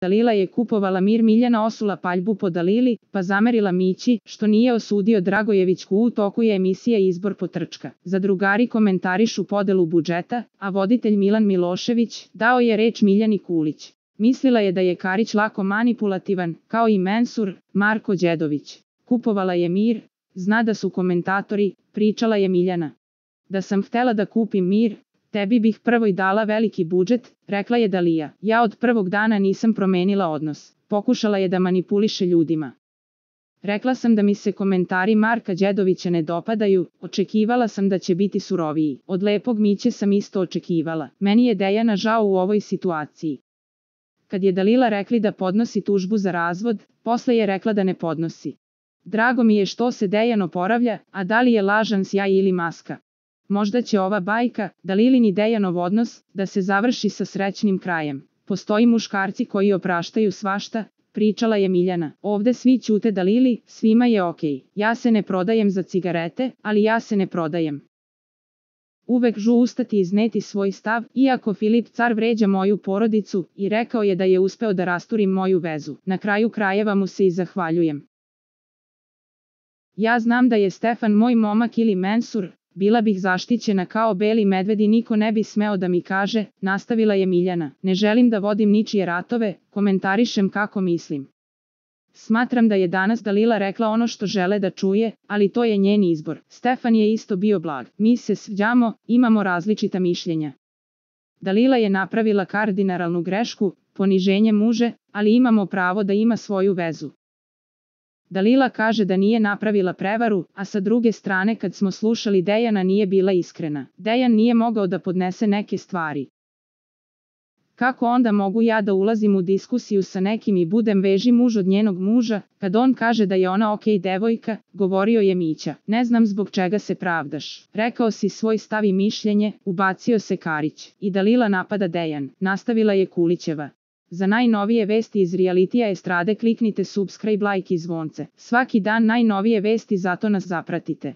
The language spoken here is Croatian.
Dalila je kupovala mir, Miljana osula paljbu po Dalili, pa zamerila Mići, što nije osudio Dragojevićku. U toku je emisija Izbor potrčka. Zadrugari komentarišu podelu budžeta, a voditelj Milan Milošević dao je reč Miljani Kulić. Mislila je da je Karić lako manipulativan, kao i Mensur, Marko Đedović. Kupovala je mir, zna da su komentatori, pričala je Miljana. Da sam htela da kupim mir, tebi bih prvo i dala veliki budžet, rekla je Dalija. Ja od prvog dana nisam promenila odnos. Pokušala je da manipuliše ljudima. Rekla sam da mi se komentari Marka Đedovića ne dopadaju, očekivala sam da će biti suroviji. Od lepog Miće sam isto očekivala. Meni je Dejana žao u ovoj situaciji. Kad je Dalila rekli da podnosi tužbu za razvod, posle je rekla da ne podnosi. Drago mi je što se Dejan oporavlja, a da li je lažan sjaj ili maska? Možda će ova bajka, Dalilin i Dejanov odnos, da se završi sa srećnim krajem. Postoji muškarci koji opraštaju svašta, pričala je Miljana. Ovde svi ćute Dalili, svima je okej. Ja se ne prodajem za cigarete, ali ja se ne prodajem. Uvek žu ustati i izneti svoj stav, iako Filip Car vređa moju porodicu i rekao je da je uspeo da rasturim moju vezu. Na kraju krajeva mu se i zahvaljujem. Ja znam da je Stefan moj momak ili Mensur, bila bih zaštićena kao beli medved i niko ne bi smeo da mi kaže, nastavila je Miljana. Ne želim da vodim ničije ratove, komentarišem kako mislim. Smatram da je danas Dalila rekla ono što žele da čuje, ali to je njen izbor. Stefan je isto bio blag. Mi se svađamo, imamo različita mišljenja. Dalila je napravila kardinalnu grešku, poniženje muže, ali imamo pravo da ima svoju vezu. Dalila kaže da nije napravila prevaru, a sa druge strane kad smo slušali Dejana nije bila iskrena. Dejan nije mogao da podnese neke stvari. Kako onda mogu ja da ulazim u diskusiju sa nekim i budem veži muž od njenog muža, kad on kaže da je ona okej devojka, govorio je Mića. Ne znam zbog čega se pravdaš. Rekao si svoj stav i mišljenje, ubacio se Karić. I Dalila napada Dejan, nastavila je Kulićeva. Za najnovije vesti iz realitija estrade kliknite subscribe, like i zvonce. Svaki dan najnovije vesti, zato nas zapratite.